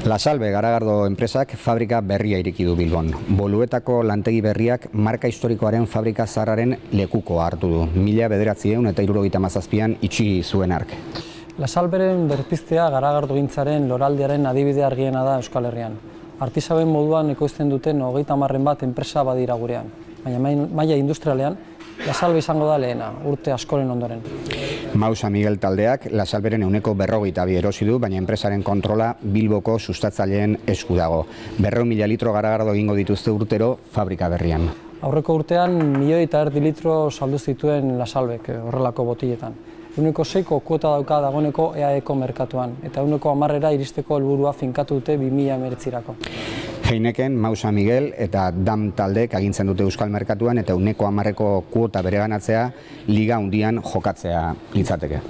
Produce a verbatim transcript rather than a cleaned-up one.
La Salve Garagardo enpresak fabrika berria ireki du Bilbon. Boluetako lantegi berriak marka historikoaren fabrika zaharraren lekuko hartu du. Mila bederatziehun eta hirurogeita hamazazpian itxi zuen hark. La Salveren berpiztea garagardogintzaren loraldiaren adibide argiena da Euskal Herrian. Artisauen moduan ekoizten duten hogeita hamarren bat enpresa badira gurean. Baina maila industrialean, La Salve izango da lehena, urte askoren ondoren. Mausa Miguel taldeak La Salveren ehuneko berrogeita bi erosi du, baina enpresaren kontrola Bilboko sustatzaileen esku dago. Berrehun mila litro garagardo egingo dituzte urtero fabrika berrian. Aurreko urtean milioi eta erdi litro saldu zituen La Salvek horrelako botiletan. Ehuneko seiko kuota dauka dagoeneko E A E-ko merkatuan, eta ehuneko hamarrera iristeko helburua finkatu dute bi mila hemeretzirako. Heineken, Mausa Miguel eta Dam taldeek agintzen dute euskal merkatuan eta ehuneko hamarreko kuota bereganatzea liga handian jokatzea litzateke.